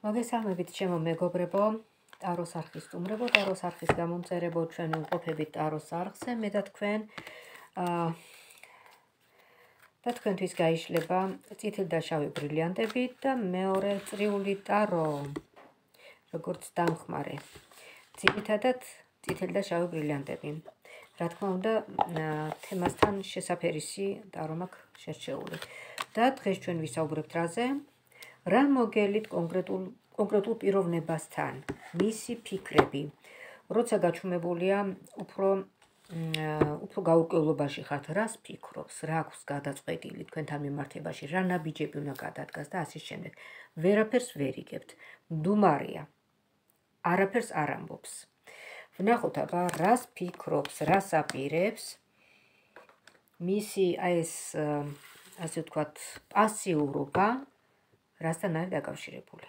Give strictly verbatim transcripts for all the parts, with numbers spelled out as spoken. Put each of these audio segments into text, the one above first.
მოგესალმებით ჩემო მეგობრებო, ტაროს არხის სტუმრებო, ტაროს არხის გამომწერებო, ჩვენ ვიმყოფებით ტაროს არხზე, მე და თქვენ და თქვენთვის გაიშლება წითელი და შავი ბრილიანტები და მეორე წრიული ტარო, როგორც დამხმარე. ძირითადად წითელი და შავი ბრილიანტები. რა თქმა უნდა, თემასთან შესაფერისი ტარო მაქვს შერჩეული. და დღეს ჩვენ ვისაუბრებთ რაზე? რა მოგელით კონკრეტულ კონკრეტულ პიროვნებასთან, მისი ფიქრები, როცა გაჩვენებულია უფრო უფრო გაურკვევლობაში ხართ, რას ფიქრობს, რა აქვს გადაწყვეტილი თქვენთან მიმართებაში, რა ნაბიჯები უნდა გადადგას და ასე შემდეგ. ვერაფერს ვერ იგებთ. მდუმარია. არაფერს არ ამბობს. ვნახოთ აბა, რას ფიქრობს, რას აპირებს მისი აი ეს ასე ვთქვათ, პასიურობა რასთან არის დაკავშირებული.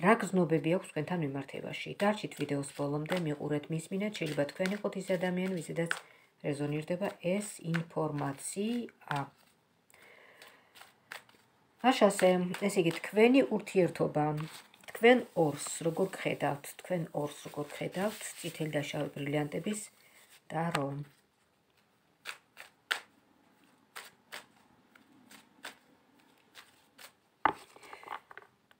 რა გზნობები აქვს თქვენთან მიმართებაში? დარჩით ვიდეოს ბოლომდე, მიყურეთ, მისმინეთ, შეიძლება თქვენ იყოთ ის ადამიანი, ვიზედაც რეზონირდება ეს ინფორმაცია. აშასე, ესე იგი, თქვენი ურთიერთობა, თქვენ ორს როგორ გხედავთ, თქვენ ორს როგორ გხედავთ, წითელი და შავი ბრილიანტების ტარო.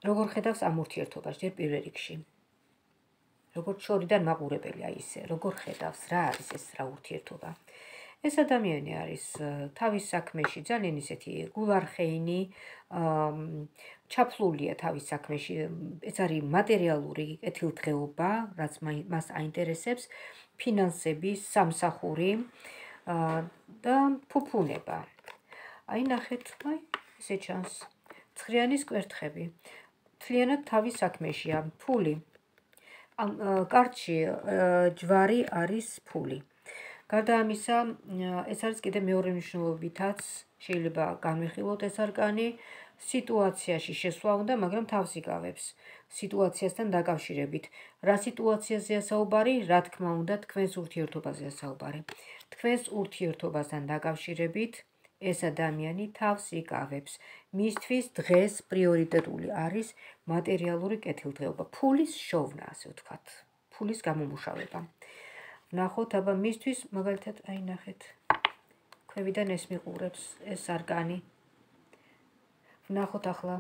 როგორ ხედავს ამ ურთიერთობას, ჯერ პირველ რიგში. როგორ შორიდან მაყურებელი, აი ისე, როგორ ხედავს, რა არის ეს რა ურთიერთობა. ეს ადამიანი არის თავის საქმეში ძალიან ისეთი გულარხეინი, ჩაფლულია თავის საქმეში, ეს არის მატერიალური კეთილდღეობა, რაც მას აინტერესებს, ფინანსები, სამსახური და ფუფუნება. აი ნახეთ, აი ესე ჩანს. ცხრიანის კვერთხები. მთლიანად თავის საქმეშია, ფული. ამ კარტში ჯვარი არის ფული. გარდა ამისა, ეს არის კიდე მეორე მნიშვნელობითაც შეიძლება განვიხილოთ ეს არკანი, სიტუაციაში შესვლა უნდა, მაგრამ თავს იკავებს. სიტუაციასთან დაკავშირებით. რა სიტუაციაზეა საუბარი? რა თქმა უნდა, თქვენს ურთიერთობაზეა საუბარი. თქვენს ურთიერთობასთან დაკავშირებით ეს ადამიანი თავს იკავებს. მისთვის დღეს პრიორიტეტული არის მატერიალური კეთილდღეობა, ფულის შოვნა, ასე ვთქვათ, ფულის გამომუშავება. ვნახოთ, აბა მისთვის, მაგალითად, აი ნახეთ, ქვევიდან ეს მიყურებს, ეს არკანი. ვნახოთ ახლა,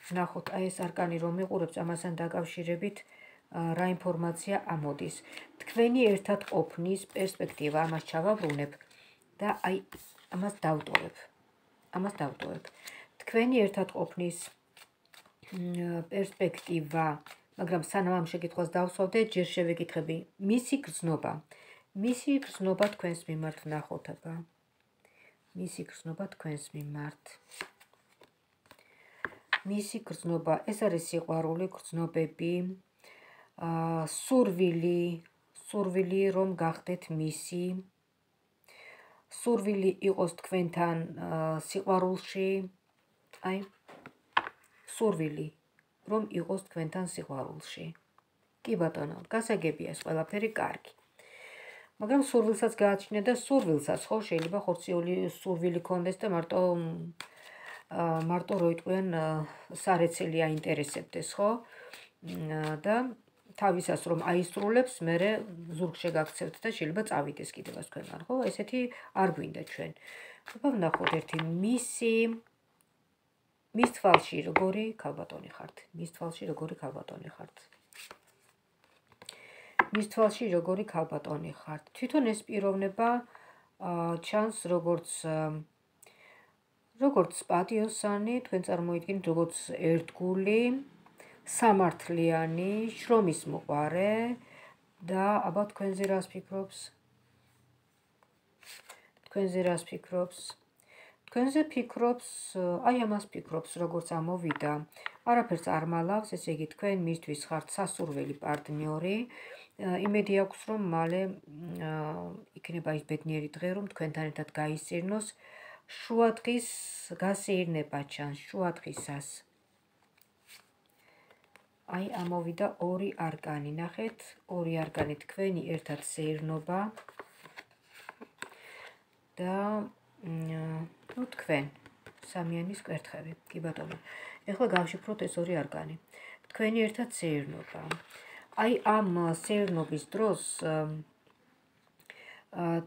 ვნახოთ, აი ეს არკანი რომ მიყურებს, ამასთან დაკავშირებით რა ინფორმაცია ამოდის. თქვენი ერთად ყოფნის პერსპექტივა, ამას ჩავაბრუნებ და აი ამას დავტოვებ. ამას დავტოვებ. თქვენი ერთად ყოფნის პერსპექტივა, მაგრამ სანამ ამ შეკითხვას დავსვავდე, ჯერ შევეკითხები მისი გრძნობა. მისი გრძნობა თქვენს მიმართ ვნახოთ აბა. მისი გრძნობა თქვენს მიმართ. მისი გრძნობა, ეს არის სიყვარული, გრძნობები, სურვილი, სურვილი რომ გახდეთ მისი. სურვილი იყოს თქვენთან სიყვარულში, აი, სურვილი რომ იყოს თქვენთან სიყვარულში. კი ბატონო, გასაგებია ეს ყველაფერი კარგი. მაგრამ სურვილსაც გააჩნია და სურვილსაც ხო შეიძლება ხორციელი სურვილი კონდეს და მარტო მარტო რო იტყვიან სარეცელი აინტერესებდეს, ხო? და თავისას რომ აისრულებს, მერე ზურგ შეგაქცევთ და შეიძლება წავიდეს კიდევაც თქვენგან, ხო? ესეთი არ გვინდა ჩვენ. აბა ვნახოთ ერთი მისი მის თვალში როგორი ქალბატონი ხართ. მის თვალში როგორი ქალბატონი ხართ. მის თვალში როგორი ქალბატონი ხართ. თვითონ ეს პიროვნება ჩანს როგორც როგორც პატიოსანი, თქვენ წარმოიდგინეთ როგორც ერთგული, სამართლიანი, შრომის მოყვარე და აბა თქვენზე რას ფიქრობს? თქვენზე რას ფიქრობს? თქვენზე ფიქრობს, აი ამას ფიქრობს, როგორც ამოვიდა. არაფერს არ მალავს, ესე იგი თქვენ მისთვის ხართ სასურველი პარტნიორი. იმედი აქვს, რომ მალე იქნება ის ბედნიერი დღე, რომ თქვენთან ერთად გაისწირნოს. შუადღის გასეირნება ჩანს, შუადღისას. აი ამოვიდა ორი არკანი, ნახეთ, ორი არკანი თქვენი ერთად სეირნობა და ნუ თქვენ სამიანის კვერთხები, კი ბატონო. ეხლა გავშიფროთ ეს ორი არკანი. თქვენი ერთად სეირნობა. აი ამ სეირნობის დროს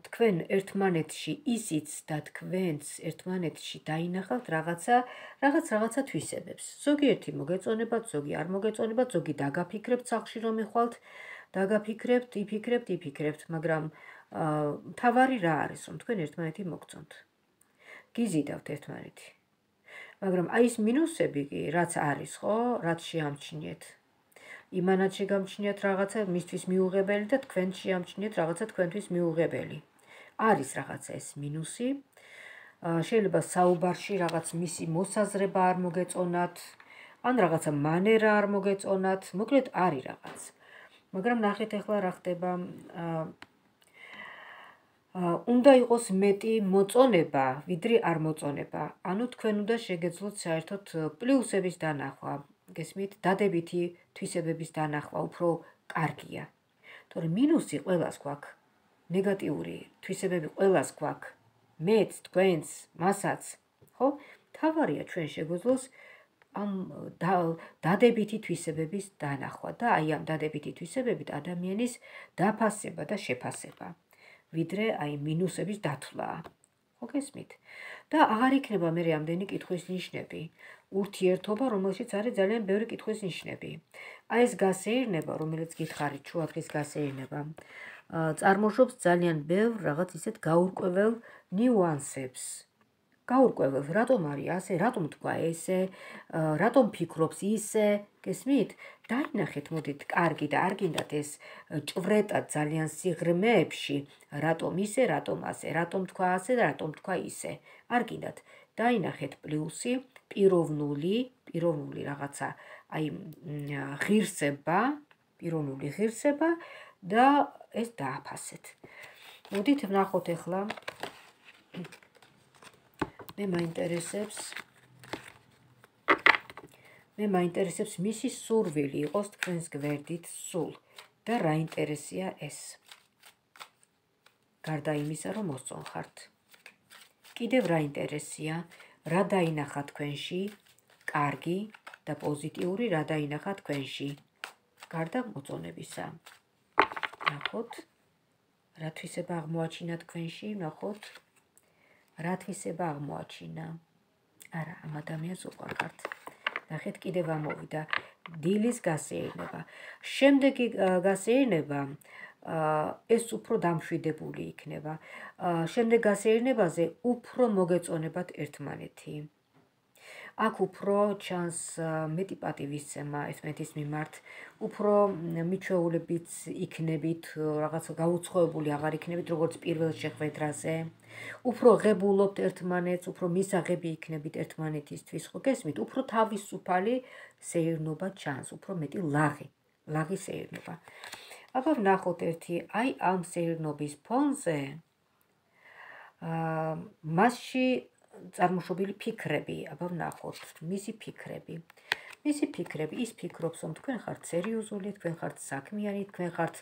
თქვენ ერთმანეთში ისიც და თქვენც ერთმანეთში დაინახავთ რაღაცა რაღაც რაღაცა თვისებებს. ზოგიერთი მოგეწონებათ, ზოგი არ მოგეწონებათ, ზოგი დაგაფიქრებთ სახლში რომ ეხვალთ, დაგაფიქრებთ, იფიქრებთ, იფიქრებთ, მაგრამ მთავარი რა არის, რომ თქვენ ერთმანეთი მოგწონთ. გიზიდავთ ერთმანეთი. მაგრამ აი ეს მინუსები კი, რაც არის, ხო, რაც შეამჩნიეთ. იმანად შეგამჩნიათ რაღაცა მისთვის მიუღებელი და თქვენ შეამჩნიეთ რაღაცა თქვენთვის მიუღებელი. არის რაღაცა ეს მინუსი. შეიძლება საუბარში რაღაც მისი მოსაზრება არ მოგეწონათ, ან რაღაცა მანერა არ მოგეწონათ, მოკლედ არის რაღაც. მაგრამ ნახეთ ახლა რა ხდება. უნდა იყოს მეტი მოწონება, ვიდრე არ მოწონება. ანუ თქვენ უნდა შეგეძლოთ საერთოდ პლუსების დანახვა. გესმით, დადებითი თვისებების დანახვა უფრო კარგია. თორემ მინუსი ყველას გვაქვს. ნეგატიური თვისებები ყველას გვაქვს. მეც, თქვენც, მასაც, ხო? თავარია ჩვენ შეგვეძლოს ამ დადებითი თვისებების დანახვა და აი ამ დადებითი თვისებებით ადამიანის დაფასება და შეფასება. ვიდრე აი მინუსების დათვლა. ხო გესმით? და აღარ იქნება მე ამდენი კითხვის ნიშნები. ურთიერთობა, რომელშიც არის ძალიან ბევრი კითხვის ნიშნები. აი ეს გასეირნება, რომელიც გითხარით, შუადღის გასეირნება, წარმოშობს ძალიან ბევრ რაღაც ისეთ გაურკვეველ ნიუანსებს. გაურკვეველ, რატომ არის ასე, რატომ თქვა ესე, რატომ ფიქრობს ისე, გესმით? დაინახეთ, მოდით, კარგი და არ გინდათ ეს ჭვრეტად ძალიან სიღრმეებში, რატომ ისე, რატომ ასე, რატომ თქვა ასე და რატომ თქვა ისე. არ გინდათ. დაინახეთ პლუსი, პიროვნული, პიროვნული რაღაცა, აი ღირსება, პიროვნული ღირსება და ეს დააფასეთ. მოდით ვნახოთ ახლა. მე მაინტერესებს მე მაინტერესებს მისი სურვილი იყოს თქვენს გვერდით სულ და რა ინტერესია ეს. გარდა იმისა, რომ მოსწონხართ. კიდევ რა ინტერესია, რა დაინახა თქვენში, კარგი და პოზიტიური რა დაინახა თქვენში, გარდა მოწონებისა. ნახოთ, რა თვისება აღმოაჩინა თქვენში, ნახოთ, რა თვისება აღმოაჩინა. არა, ამ ადამიანს უყვართ. ნახეთ, კიდევ ამოვიდა დილის გასეირნება. შემდეგი გასეირნება ეს უფრო დამშვიდებული იქნება. შემდეგ გასეირნებაზე უფრო მოგეწონებათ ერთმანეთი. აქ უფრო ჩანს მეტი პატივისცემა ერთმანეთის მიმართ, უფრო მიჩვეულებიც იქნებით, რაღაც გაუცხოებული აღარ იქნებით, როგორც პირველ შეხვედრაზე. უფრო ღებულობთ ერთმანეთს, უფრო მისაღები იქნებით ერთმანეთისთვის, ხო გესმით? უფრო თავისუფალი სეირნობა ჩანს, უფრო მეტი ლაღი, ლაღი სეირნობა. აბა ვნახოთ ერთი, აი ამ სეირნობის ფონზე მასში წარმოშობილი ფიქრები, აბა ვნახოთ, მისი ფიქრები. მისი ფიქრები, ის ფიქრობს, რომ თქვენ ხართ სერიოზული, თქვენ ხართ საქმიანი, თქვენ ხართ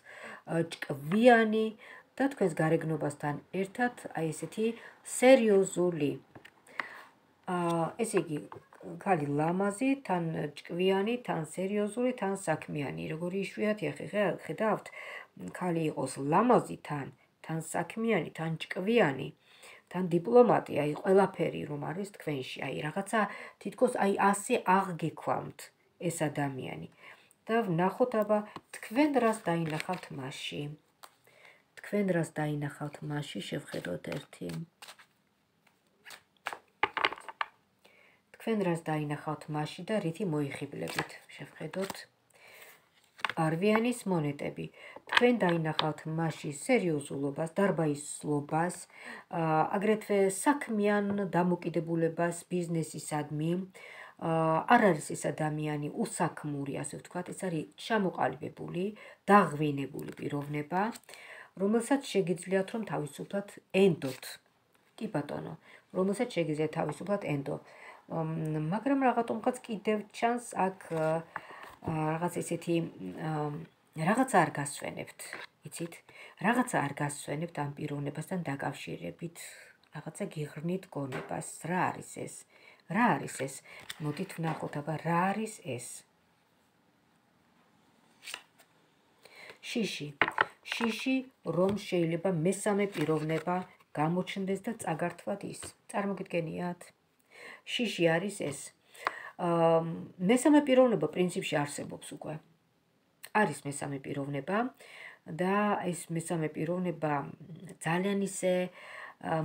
ჭკვიანი და თქვენს გარეგნობასთან ერთად აი ესეთი სერიოზული. ესე იგი, ქალი ლამაზი, თან ჭკვიანი, თან სერიოზული, თან საქმიანი. როგორი იშვიათია, ხედავთ, ქალი იყოს ლამაზი თან, თან საქმიანი, თან ჭკვიანი. თან დიპლომატი, აი ყველაფერი რომ არის თქვენში, აი რაღაცა თითქოს აი ასე აღგექვამთ ეს ადამიანი. და ვნახოთ აბა თქვენ რას დაინახავთ მასში. თქვენ რას დაინახავთ მასში, შევხედოთ ერთი. თქვენ რას დაინახავთ მასში და რითი მოიხიბლებით, შევხედოთ. არვიანის მონეტები. თქვენ დაინახავთ მასში სერიოზულობას, დარბაისლობას, აგრეთვე საქმიან დამოკიდებულებას ბიზნესისადმი. არ არის ეს ადამიანი უსაქმური, ასე ვთქვათ, ეს არის ჩამოყალიბებული, დაღვინებული პიროვნება, რომელსაც შეგიძლიათ რომ თავისუფლად ენდოთ. კი ბატონო, რომელსაც შეგიძლიათ თავისუფლად ენდო. მაგრამ რაღაცომღაც კიდევ ჩანს აქ რაღაც ესეთი რაღაცა არ გასვენებთ, იცით? რაღაცა არ გასვენებთ ამ პიროვნებასთან დაკავშირებით, რაღაცა გიღრმით გონებას. რა არის ეს? რა არის ეს? მოდით ვნახოთ, აბა რა არის ეს? შიში. შიში, რომ შეიძლება მესამე პიროვნება გამოჩნდეს და წაგართვათ ის. წარმოგიდგენიათ? შიში არის ეს. მესამე პიროვნება პრინციპში არსებობს უკვე. არის მესამე პიროვნება და ეს მესამე პიროვნება ძალიან ისე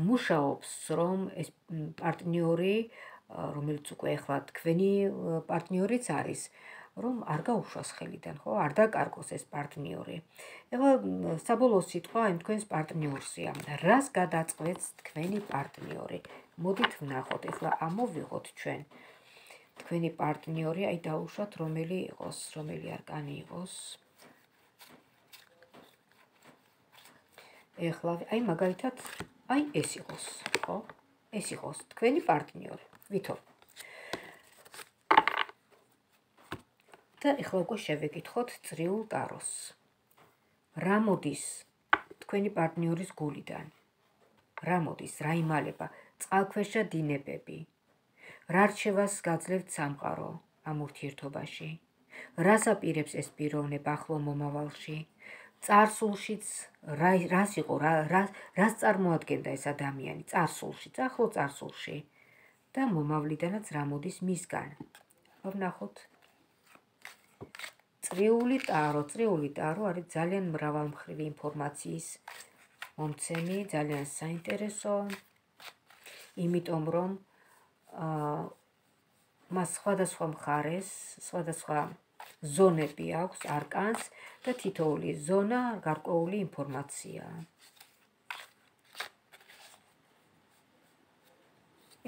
მუშაობს, რომ ეს პარტნიორი, რომელიც უკვე ახლა თქვენი პარტნიორიც არის, რომ არ გაუშვას ხელიდან, ხო, არ დაკარგოს ეს პარტნიორი. ეხლა საბოლოო სიტყვა იმ თქვენს პარტნიორსია. რას გადაწყვეტს თქვენი პარტნიორი? მოდით ვნახოთ, ეხლა ამოვიღოთ ჩვენ თქვენი პარტნიორი, აი დაუშვათ რომელი იყოს, რომელი არკანი იყოს. ეხლა აი მაგალითად, აი ეს იყოს, ხო? ეს იყოს თქვენი პარტნიორი. ვითომ? და ეხლა უკვე შევეკითხოთ წრიულ ტაროს. რა მოდის თქვენი პარტნიორის გულიდან? რა მოდის, რა იმალება? წყალქვეშა დინებები. რა რჩევას გაძლევთ სამყარო ამ ურთიერთობაში? რას აპირებს ეს პიროვნება ახლო მომავალში? წარსულშიც რას იყო, რას წარმოადგენდა ეს ადამიანი წარსულში, ახლო წარსულში და მომავლიდანაც რა მოდის მისგან. ვნახოთ. წრიული ტარო, წრიული ტარო არის ძალიან მრავალმხრივი ინფორმაციის მომცემი, ძალიან საინტერესო, იმიტომ რომ მას სხვადასხვა მხარეს, სხვადასხვა ზონები აქვს არკანს და თითოეული ზონა გარკვეული ინფორმაცია.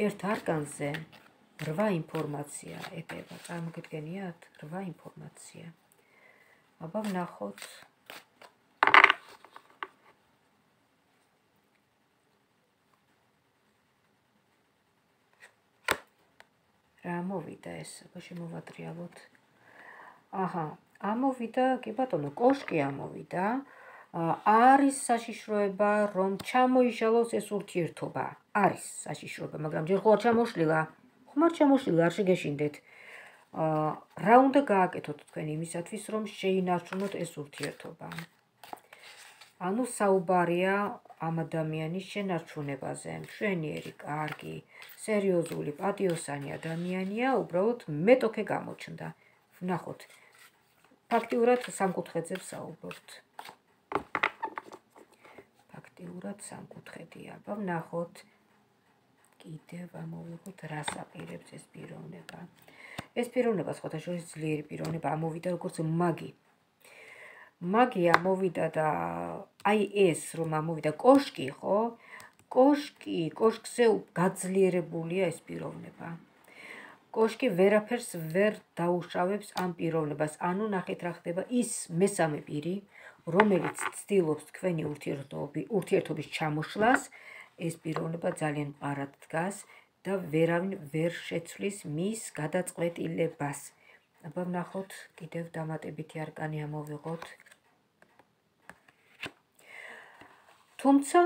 ერთ არკანზე რვა ინფორმაცია ეტევა, წარმოგიდგენიათ? რვა ინფორმაცია. აბა ვნახოთ. რა მოვიდა ეს? აბა შემოვატრიალოთ. აჰა, ამოვიდა, კი ბატონო, კოშკი ამოვიდა. არის საშიშროება, რომ ჩამოიშალოს ეს ურთიერთობა. არის საშიშროება, მაგრამ ჯერ ხო არ ჩამოშლილა. ხომ არ ჩამოშლილა, არ შეგეშინდეთ. რა უნდა გააკეთოთ თქვენ იმისათვის, რომ შეინარჩუნოთ ეს ურთიერთობა? ანუ საუბარია ამ ადამიანის შენარჩუნებაზე. მშვენიერი, კარგი, სერიოზული, პატიოსანი ადამიანია, უბრალოდ მეტოქე გამოჩნდა. ვნახოთ. ფაქტიურად სამკუთხედზე ვსაუბრობთ. ფაქტიურად სამკუთხედია. აბა ვნახოთ. კიდევ ამოვიღოთ, რას აპირებს ეს პიროვნება. ეს პიროვნება სხვათა შორის ძლიერი პიროვნება ამოვიდა როგორც მაგი. მაგი ამოვიდა და აი ეს რომ ამოვიდა კოშკი, ხო? კოშკი, კოშკზე გაძლიერებულია ეს პიროვნება. კოშკი ვერაფერს ვერ დაუშავებს ამ პიროვნებას. ანუ ნახეთ რა ხდება, ის მესამე პირი, რომელიც ცდილობს თქვენი ურთიერთობის ჩამოშლას, ეს პიროვნება ძალიან მყარად დგას და ვერავინ ვერ შეცვლის მის გადაწყვეტილებას. აბა ვნახოთ, კიდევ დამატებითი არკანი ამოვიღოთ. თუმცა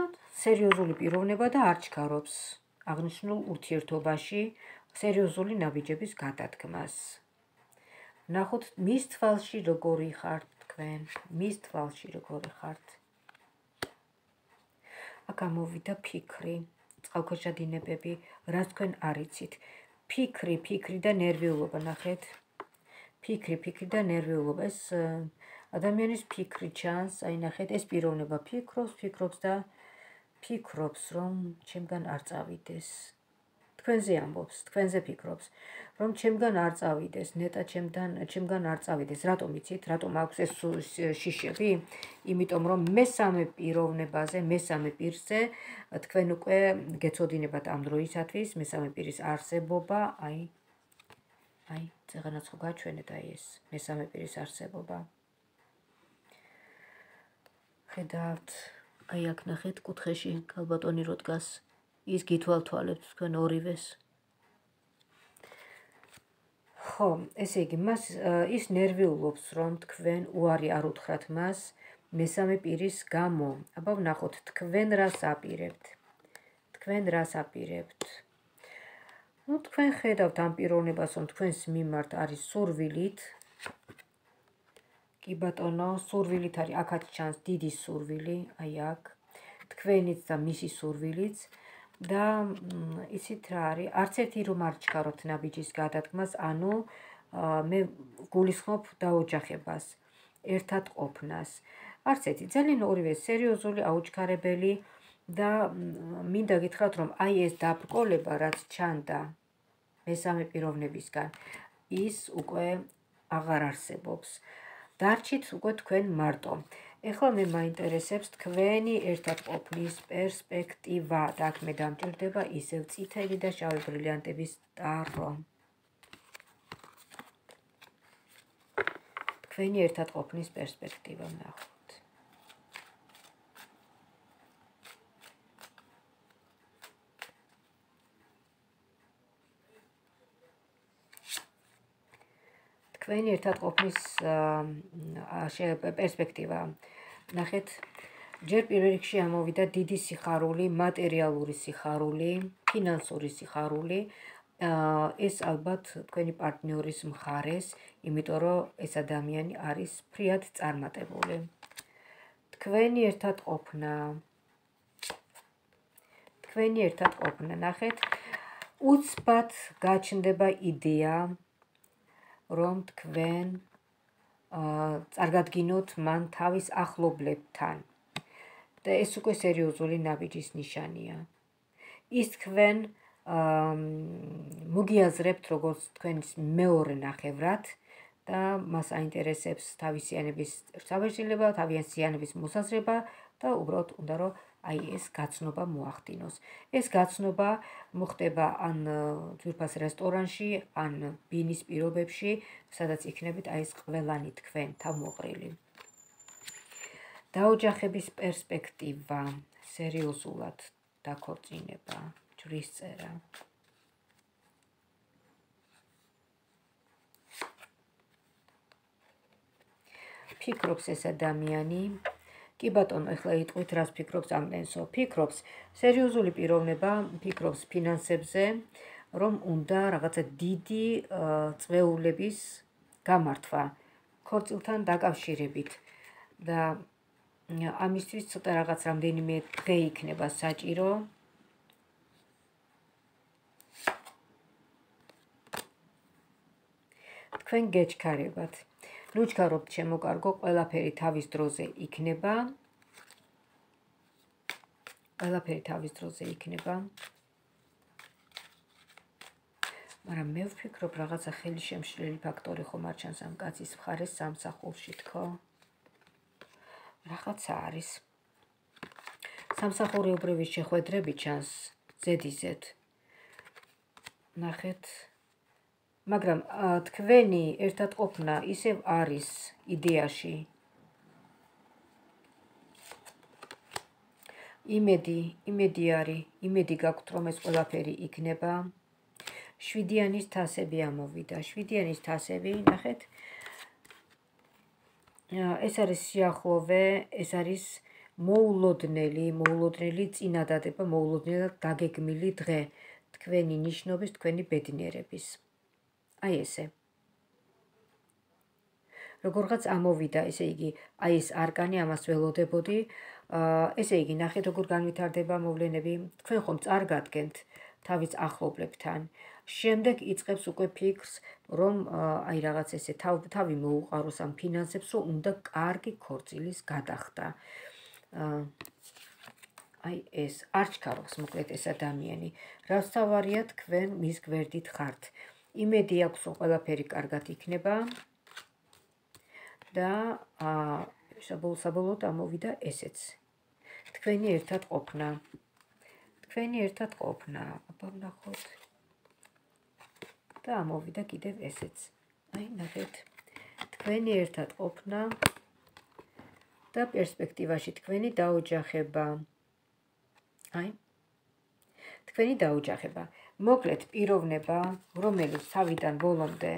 სერიოზული პიროვნება და არ ჩქარობს აღნიშნულ ურთიერთობაში სერიოზული ნაბიჯების გადადგმას. ვნახოთ, მის თვალში როგორი ხართ თქვენ, მის თვალში როგორი ხართ. აქ ამოვიდა ფიქრი, წყალქვეშა დინებები, რაც თქვენ არ იცით. ფიქრი, ფიქრი და ნერვიულობა, ნახეთ. ფიქრი, ფიქრი და ნერვიულობა. ეს ადამიანის ფიქრი ჩანს, აი ნახეთ, ეს პიროვნება ფიქრობს, ფიქრობს და ფიქრობს, რომ ჩემგან არ წავიდეს. თქვენზე ამბობს, თქვენზე ფიქრობს, რომ ჩემგან არ წავიდეს, ნეტა ჩემთან, ჩემგან არ წავიდეს. რატომ იცით? რატომ აქვს ეს შიშები? იმიტომ რომ მესამე პიროვნებაზე, მესამე პირზე თქვენ უკვე გეცოდინებათ ამ დროისათვის მესამე პირის არსებობა, აი აი, წეღანაც ხო გაჩვენეთ აი ეს მესამე პირის არსებობა. ხედავთ, აი აქ ნახეთ კუთხეში ქალბატონი რო დგას, ის გითვალთვალებთ თქვენ ორივეს. ხო, ესე იგი, მას ის ნერვიულობს, რომ თქვენ უარი არ უთხრათ მას მესამე პირის გამო. აბა ვნახოთ, თქვენ რას აპირებთ? თქვენ რას აპირებთ? ну თქვენ ხედავთ ამ პიროვნებას, რომ თქვენს მიმართ არის სურვილით კი ბატონო, სურვილით არის, აქაც ჩანს დიდი სურვილი, აი აქ. თქვენიც და მისი სურვილიც და იცით რა არის, არც ერთი რომ არ ჩქარობთ ნაბიჯის გადადგმას, ანუ მე გულისხმობ დაოჯახებას, ერთად ყოფნას. არც ერთი, ძალიან ორივე სერიოზული, აუჩქარებელი და მინდა გითხრათ, რომ აი ეს დაბრკოლება, რაც ჩანდა მესამე პიროვნებისგან, ის უკვე აღარ არსებობს. დარჩით უკვე თქვენ მარტო. ეხლა მე მაინტერესებს თქვენი ერთად ყოფნის პერსპექტივა და აქ მე დამჭირდება ისევ წითელი და შავი ბრილიანტების ტარო. თქვენი ერთად ყოფნის პერსპექტივა ნახოთ. თქვენი ერთად ყოფნის პერსპექტივა. ნახეთ, ჯერ პირველ რიგში ამოვიდა დიდი სიხარული, მატერიალური სიხარული, ფინანსური სიხარული. ეს ალბათ თქვენი პარტნიორის მხარეს, იმიტომ რომ ეს ადამიანი არის ფრიად წარმატებული. თქვენი ერთად ყოფნა. თქვენი ერთად ყოფნა, ნახეთ, უცბად გაჩნდება იდეა, რომ თქვენ წარგადგინოთ მან თავის ახლობლებთან. და ეს უკვე სერიოზული ნაბიჯის ნიშანია. ის თქვენ მოგიაზრებთ როგორც თქვენის მეორე ნახევრად და მას აინტერესებს თავისიანების საბეჭდილება, თავისიანების მოსაზრება და უბრალოდ უნდა რომ აი ეს გაცნობა მოახდინოს. ეს გაცნობა მოხდება ან ძვირფას რესტორანში, ან ბინის პირობებში, სადაც იქნებით აი ეს ყველანი თქვენ თავმოყრილი. დაოჯახების პერსპექტივა, სერიოზულად დაქორწინება, ჯვრის წერა. ფიქრობს ეს ადამიანი. კი ბატონო, ეხლა იტყვით რას ფიქრობს ამენსო. ფიქრობს სერიოზული პიროვნება, ფიქრობს ფინანსებზე, რომ უნდა რაღაცა დიდი წვეულების გამართვა ქორწილთან დაკავშირებით და ამისთვის ცოტა რაღაც რამდენიმე დღე იქნება საჭირო. თქვენ გეჩქარებათ. ლუჩქარობთ შემოკარგო, ყველაფერი თავის დროზე იქნება. ყველაფერი თავის დროზე იქნება. მაგრამ მე ვფიქრობ, რაღაცა ხელი შემშლელი ფაქტორი ხომ არ ჩანს ამ კაცის მხარეს სამსახურში თქო. რაღაცა არის. სამსახურეობრივი შეხვედრები ჩანს ზედიზედ. ნახეთ. მაგრამ თქვენი ერთად ყოფნა ისევ არის იდეაში. იმედი, იმედი არის, იმედი გაქვთ, რომ ეს ყველაფერი იქნება. შვიდიანის თასები ამოვიდა. შვიდიანის თასები, ნახეთ. ეს არის სიახლოვე, ეს არის მოულოდნელი, მოულოდნელი წინადადება, მოულოდნელად დაგეგმილი დღე თქვენი ნიშნობის, თქვენი ბედნიერების. აი ესე. როგორღაც ამოვიდა, ესე იგი, აი ეს არკანი, ამას ველოდებოდი. ესე იგი, ნახეთ, როგორ განვითარდება მოვლენები. თქვენ ხომ წარგადგენთ თავის ახლობლებთან. შემდეგ იწყებს უკვე ფიქრს, რომ აი რაღაც ესე თავი მოუყაროს ამ ფინანსებს, რომ უნდა კარგი ქორწილის გადახდა. აი ეს არ ჩქარობს მოკლედ ეს ადამიანი. რაც თავარია, თქვენ მის გვერდით ხართ. იმედი აქვს, რომ ყველაფერი კარგად იქნება და საბოლოოდ ამოვიდა ესეც. თქვენი ერთად ყოფნა. თქვენი ერთად ყოფნა. აბა ვნახოთ. და ამოვიდა კიდევ ესეც. აი, ნახეთ. თქვენი ერთად ყოფნა და პერსპექტივაში თქვენი დაოჯახება. აი. თქვენი დაოჯახება. მოკლედ პიროვნება, რომელიც თავიდან ბოლომდე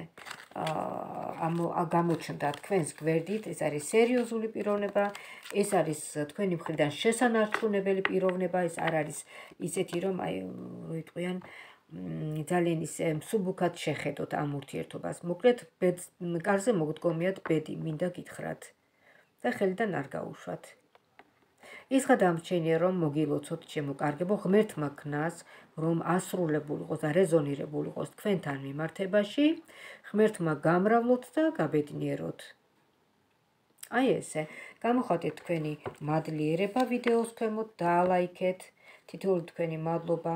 გამოჩნდა თქვენს გვერდით, ეს არის სერიოზული პიროვნება, ეს არის თქვენი მხრიდან შესანარჩუნებელი პიროვნება, ეს არ არის ისეთი, რომ აი, როიტყვიან, ძალიან ისე მსუბუქად შეხედოთ ამ ურთიერთობას. მოკლედ, კარზე მოგდგომიათ ბედი, მინდა გითხრათ და ხელიდან არ გაუშვათ. ის გადამრჩენია, რომ მოგილოცოთ ჩემო კარგებო, ღმერთმა ქნას, რომ ასრულებული იყოს და რეზონირებული იყოს თქვენთან მიმართებაში, ღმერთმა გამრავლოთ და გაბედნიეროთ. აი ესე, გამოხატეთ თქვენი მადლიერება ვიდეოს ქვემოთ, დაალაიქეთ, თითოეული თქვენი მადლობა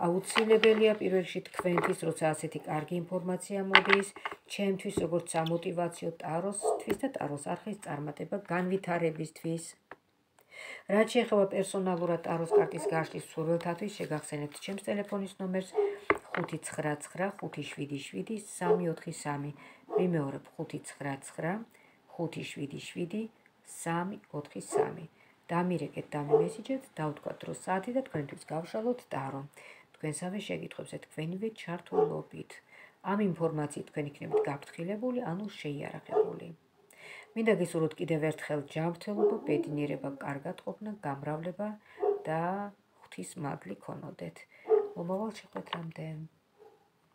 აუცილებელია პირველ რიგში თქვენთვის, როცა ასეთი კარგი ინფორმაცია მოდის, ჩემთვის როგორც სამოტივაციო ტაროსთვის და ტაროს არხის წარმატება განვითარებისთვის. რაც შეეხება პერსონალურად ტაროს კარტის გაშლის მსურველთათვის, შეგახსენებთ ჩემს ტელეფონის ნომერს ხუთი ცხრა ცხრა ხუთი შვიდი შვიდი სამი ოთხი სამი. ვიმეორებ ხუთი ცხრა ცხრა ხუთი შვიდი შვიდი სამი ოთხი სამი. დამირეკეთ, დამიმესიჯეთ, დავთქვათ დრო საათი და თქვენთვის გავშალოთ ტარო. თქვენსავე შეკითხვებზე თქვენივე ჩართულობით. ამ ინფორმაციით თქვენ იქნებით გაფრთხილებული, ანუ შეიარაღებული. მინდა გისურვოთ კიდევ ერთხელ ჯანმრთელობა, ბედნიერება, კარგად ყოფნა, გამრავლება და ღვთის მადლი ქონოდეთ. მომავალ შეხვედრამდე.